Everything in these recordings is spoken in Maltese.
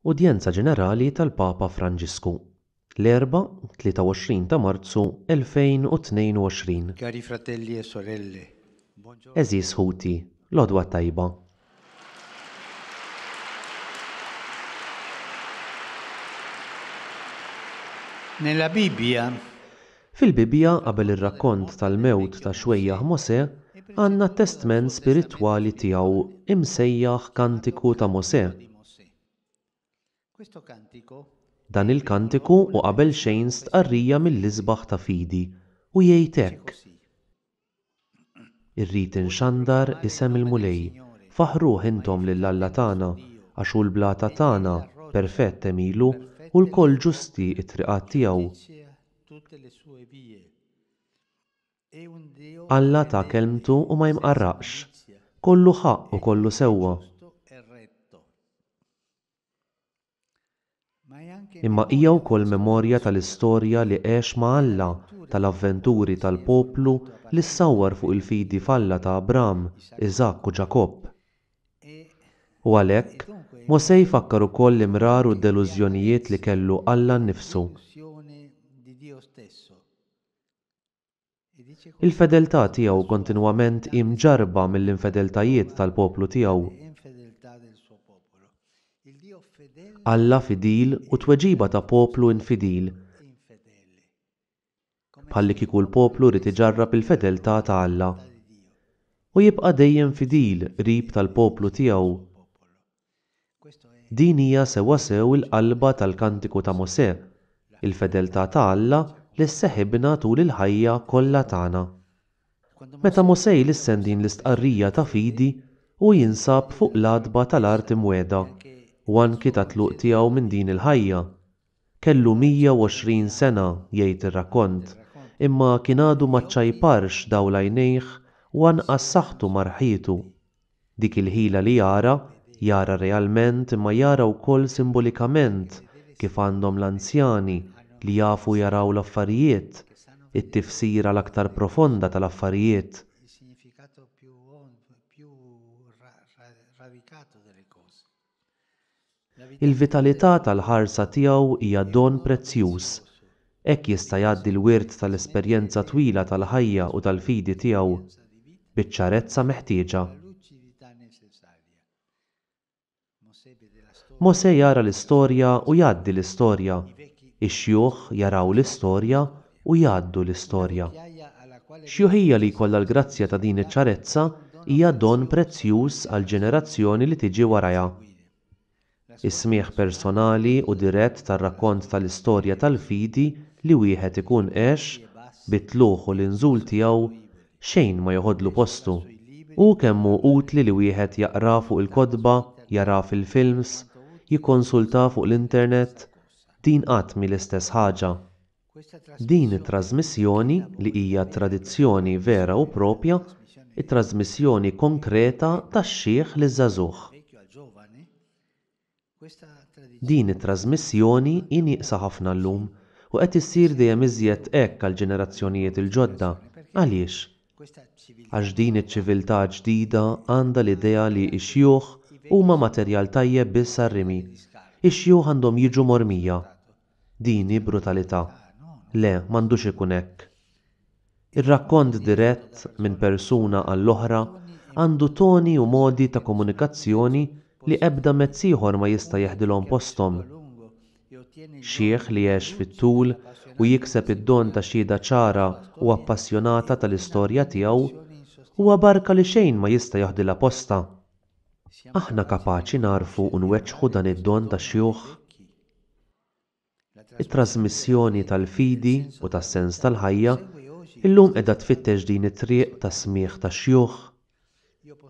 Udjenza Ġenerali tal-Papa Franġisku, l-Erbgħa, 23 ta' Marzu 2022. Cari fratelli e sorelle, buongiorno. Għeżież ħuti, l-għodwa t-tajba. Nella Bibbia. Fil-Bibbja, qabel ir-rakkont tal-mewt ta' xwejjaħ Mosè, għandna t-testment spiritwali tiegħu imsejjaħ Kantiku ta' Mosè. Dan il-kantiku hu qabelxejn stqarrija mill-isbaħ ta' fidi u jgħid hekk, Irrid inxandar isem il-Mulej, faħħruh intom lil Alla tagħna, għax hu l-blata tagħna, perfett għemilu, u lkoll ġusti t-triqat tiegħu. Alla ta kelmtu u ma jmqarraqx. Kollu ħaqq u kollu sewwa. Imma hija wkoll memorja tal-istorja li għex ma' Alla, tal-avventuri tal-poplu li ssawwar fuq il-fidi f'Alla ta' Abram, Iżakk u Ġakobb. U għalhekk, Mosè jfakkar ukoll l-imrar u d-delużjonijiet li kellu Alla nnifsu. Il-fedeltà tiegħu kontinwament hi mġarrba mill-infedeltajiet tal-poplu tiegħu. Alla fidil u t-tweġiba ta' poplu infidil, bħallikieku l-poplu ried iġarrab il-fedeltà ta' Alla. U jibqa' dejjem fidil qrib tal-poplu tiegħu. Din hija sewwasew il-qalba tal-Kantiku ta' Mosè, il-fedeltà ta' Alla li sseħibna tul il-ħajja kollha tagħna. Meta Mosè jlissen din l-istqarrija ta' fidi, hu jinsab fuq l-għatba tal-Art Imwiegħda, u anki tat-tluq tiegħu minn din il-ħajja. Kellu 120 sena, jgħid ir-rakkont, imma kien għadu ma ċċajparx dawl għajnejh u anqas saħħtu ma rħietu. Dik il-ħila li jara, jara realment imma jara wkoll simbolikament kif għandhom l-anzjani li jafu jaraw l-affarijiet, it-tifsira l-aktar profonda tal-affarijiet. Il-vitalità tal-ħarsa tiegħu hija don prezzjuż. Hekk jista' jgħaddi l-wirt tal-esperjenza twila tal-ħajja u tal-fidi tiegħu, biċ-ċarezza meħtieġa. Mosè jara l-istorja u jgħaddi l-istorja. Ix-xjuħ jaraw l-istorja u jgħaddu l-istorja. Xjuħija li jkollha l-grazzja ta' din iċ-ċarezza hija don prezzjuż għall-ġenerazzjoni li tiġi warajha. Is-smigħ personali u dirett tar-rakkont tal-istorja tal-fidi li wieħed ikun għex, bit-tlugħ u l-inżul tiegħu, xejn ma joħodlu postu. Hu kemm hu utli li wieħed jaqra fuq il-kotba, jara fil-films, jikkonsulta fuq l-internet, din qatt mhi l-istess ħaġa. Din it-trażmissjoni, li hija tradizzjoni vera u proprja, it-trażmissjoni konkreta tax-xiħ liż-żagħżugħ. Din it-trażmissjoni hi nieqsa ħafna llum u qed issir dejjem iżjed hekk għall-ġenerazzjonijiet il-ġodda. Għaliex? Għax din iċ-ċiviltà ġdida għandha l-idea li x-xjuħ huma materjal tajjeb biss għar-rimi. Ix-xjuħ għandhom jiġu mormija. Din hi brutalità. Le, m'għandux ikun hekk. Ir-rakkont dirett minn persuna għall-oħra għandu toni u modi ta' komunikazzjoni li ebda mezz ieħor ma jista' jeħdilhom posthom. Xiħ li għex fit-tul u jikseb id-don ta' xhieda ċara u appassjonata tal-istorja tiegħu huwa barka li xejn ma jista' joħdilha postha. Aħna kapaċi nagħrfu u nweġġħu dan id-don tax-xjuħ? It-trażmissjoni tal-fidi u tas-sens tal-ħajja illum qiegħda tfittex din it-triq tas-smigħ tax-xjuħ.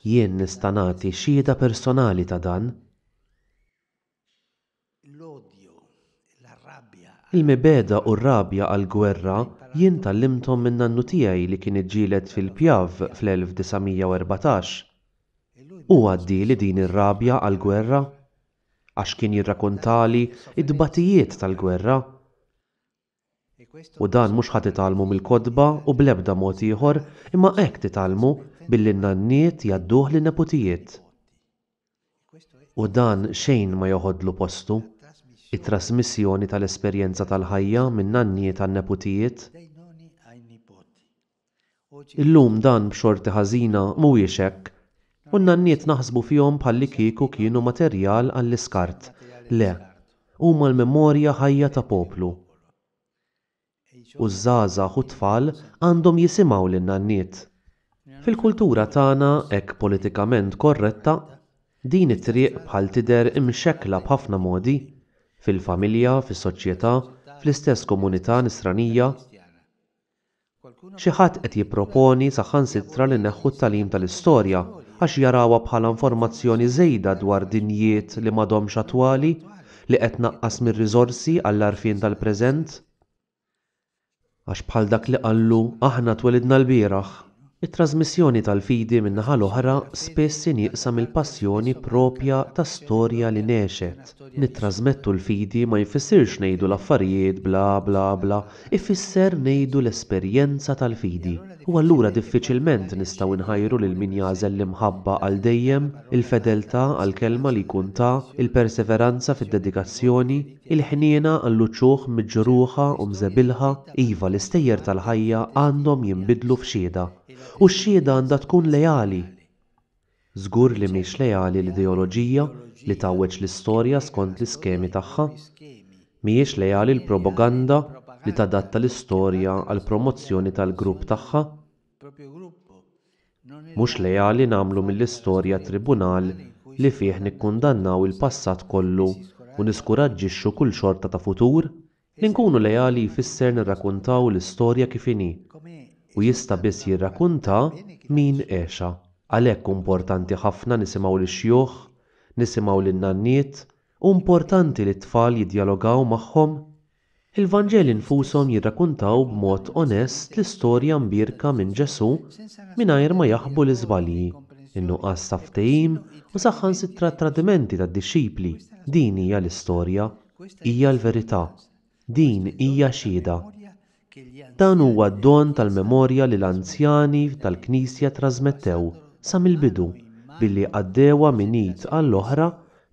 Jien nista' nagħti xhieda personali ta' dan. Il-mibegħda u r-rabja għall-gwerra jien tgħallimthom minn nannu tiegħi li kien iġġieled fil-Piave fl-1914. Hu għaddieli din ir-rabja għall-gwerra. Għax kien jirrakuntali t-tbatijiet tal-gwerra. U dan mhux ħa titgħallmu mill-kotba u bl-ebda mod ieħor, imma hekk titgħallmu billi n-nanniet jgħadduh lin-neputijiet. U dan xejn ma joħodlu postu, it-trasmissjoni tal-esperjenza tal-ħajja min-nanniet għan-neputijiet. Illum dan b'xorti ħażina mhuwiex hekk, u n-nanniet naħsbu fihom bħallikieku kienu materjal għall-iskart. Le, huma l-memorja ħajja ta' poplu. U ż-żgħażagħ u t-tfal għandhom jisimgħu lin-nanniet. Fil-kultura tagħna hekk politikament korretta, din it-triq bħal tidher imxekkla b'ħafna modi, fil-familja, fis-soċjetà, fl-istess komunità Nisranija. Xi ħadd qed jipproponi saħansitra li neħħu t-tagħlim tal-istorja għax jarawha bħala informazzjoni żejda dwar dinjiet li m'għadhomx attwali, li qed tnaqqas mir-riżorsi għall-għarfien tal-preżent. Għax bħal dak li qallu aħna twelidna lbieraħ. It-trażmissjoni tal-fidi min-naħa l-oħra spiss hi nieqsa mill-passjoni proprja ta' storja li ngħexet. Nittrażmettu l-fidi ma jfissirx ngħidu l-affarijiet bla bla bla, ifisser ngħidu l-esperjenza tal-fidi. U allura diffiċilment nistgħu nħajru lil min jagħżel l-imħabba għal dejjem, il-fedeltà għall-kelma li jkun ta, il-perseveranza fid-dedikazzjoni, Il-ħniena għall-uċuħ miġruħa u mżebilħa, iva, l-istejjer tal-ħajja għandhom jinbidlu f'xhieda. U x-xhieda għandha tkun leali! Żgur li mhix leali l-ideoloġija li tgħawweġ l-istorja skont l-iskemi tagħha. Mhijiex leali l-propaganda li tadatta l-istorja għall-promozzjoni tal-grupp tagħha. Mhux leali nagħmlu mill-istorja tribunal li fih nikkundannaw il-passat kollu u niskuraġġixxu kull xorta ta' futur? Li nkunu leali jfisser nirrakuntaw l-istorja kif inhi, u jista' biss jirrakuntha min għexha. Għalhekk hu importanti ħafna nisimgħu lix-xjuħ, nisimgħu lin-nanniet, hu importanti li t-tfal jiddjalogaw magħhom. Il-Vanġeli nfushom jirrakuntaw b'mod onest l-istorja mbierka minn Ġesù mingħajr ma jaħbu l-iżbalji, in-nuqqas ta' ftehim u saħansitra t-tradimenti tad-dixxipli. Din hija l-istorja. Hija l-verità. Din hija xhieda. Dan huwa d-don tal-memorja li l-anzjani tal-Knisja ttrażmettew sa mill-bidu billi għaddewha minn id għall-oħra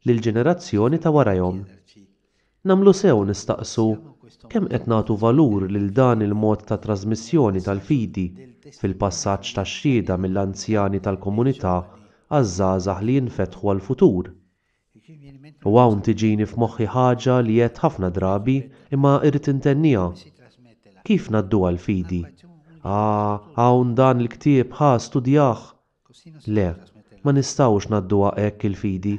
lill-ġenerazzjoni ta' warajhom. Nagħmlu sew nistaqsu kemm qed nagħtu valur lil dan il-mod ta' trażmissjoni tal-fidi fil-passaġġ tax-xhieda mill-anzjani tal-komunità għaż-żgħażagħ li jinfetħu għall-futur. U hawn tiġini f'moħħi ħaġa li għedt ħafna drabi imma irrid intenniha. Kif ngħadduha l-fidi? Ah, hawn dan il-ktieb, ħa, studjah! Le, ma nistgħux ngħadduha hekk il-fidi.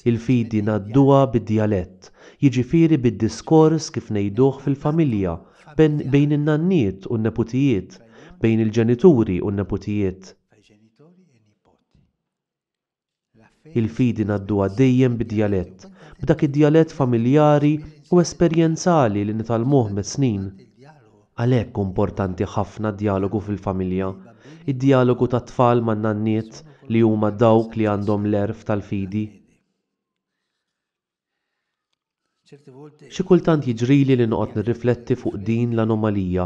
Il-fidi ngħadduha bid-djalett, jiġifieri bid-diskors kif ngħiduh fil-familja, bejn in-nanniet u n-neputijiet, bejn il-ġenituri u n-neputijiet. Il-fidi ngħadduha dejjem bid-djalett, b'dak id-djalett familjari u esperjenzali li nitgħallmuh mas-snin. Għalhekk hu importanti ħafna d-djalogu fil-familja, id-djalogu tat-tfal man-nanniet li huma dawk li għandhom l-għerf tal-fidi. Xi kultant jiġrili li noqgħod nirrifletti fuq din l-anomalija.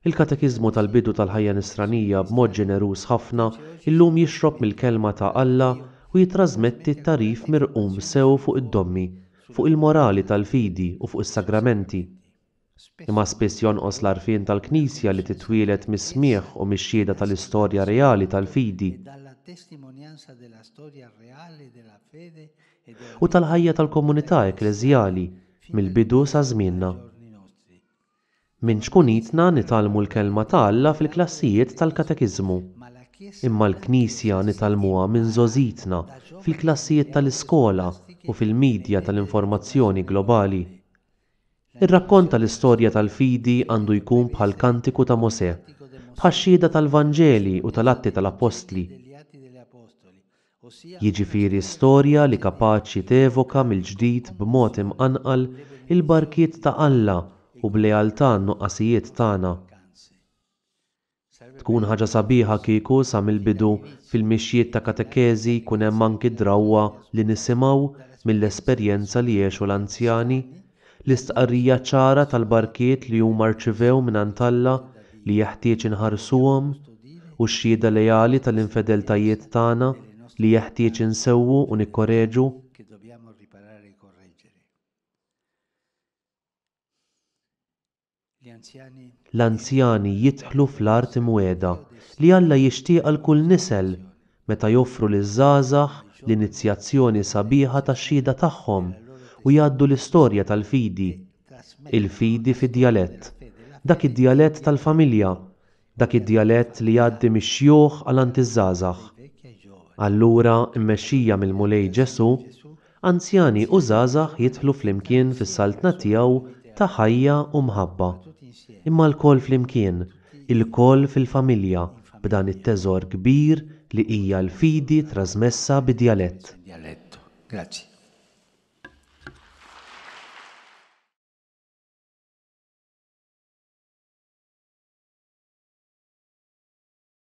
Il-Katekiżmu tal-bidu tal-ħajja Nisranija b'mod ġeneruż ħafna illum jixrob mill-Kelma ta' Alla u jittrażmetti t-tagħrif mirqum sew fuq id-dommi, fuq il-morali tal-fidi u fuq is-sagramenti. Imma spiss jonqos l-għarfien tal-Knisja li titwieled mis-smigħ u mix-xhieda tal-istorja reali tal-fidi u tal-ħajja tal-komunità ekkleżjali mill-bidu sa żmienna. Minn ċkunitna nitgħallmu l-Kelma ta' Alla fil-klassijiet tal-katekiżmu. Imma l-Knisja nitgħallmuha minn żgħożitna fil-klassijiet tal-iskola u fil-midja tal-informazzjoni globali. Ir-rakkont tal-istorja tal-fidi għandu jkun bħall-kantiku ta' Mosè, bħax-xhieda tal-Vanġeli u tal-Atti tal-Appostli. Jiġifieri storja li kapaċi tevoka mill-ġdid b'mod imqanqal il-barkiet ta' Alla u b'lealtà n-nuqqasijiet tagħna. Tkun ħaġa sabiħa kieku sa mill-bidu fil-mixjiet ta' katekeżi jkun hemm anki d-drawwa li nisimgħu mill-esperjenza li għexu l-anzjani, l-istqarrija ċara tal-barkiet li huma rċivew mingħand Alla li jeħtieġ inħarsuhom. u x-xhieda leali tal-infedeltajiet tagħna li jeħtieġ insewwu u nikkoreġu. L-anzjani jidħlu fl-art imwiegħda li Alla jixtieq għal kull nisel meta joffru liż-żgħażagħ l-inizjazzjoni sabiħa tax-xhieda tagħhom u jgħaddu l-istorja tal-fidi, il-fidi fid-djalett, dak id-djalett tal-familja, dak id-djalett li jgħaddi mix-xjuħ għal għand iż-żgħażagħ. Allura, mmexxija mill-Mulej Ġesù, anzjani u żgħażagħ jidħlu flimkien fis-Saltna tiegħu ta' ħajja u mħabba. Imma lkoll flimkien, ilkoll fil-familja, b'dan it-teżor kbir li hija l-fidi trasmessa bid-djalett. Grazie.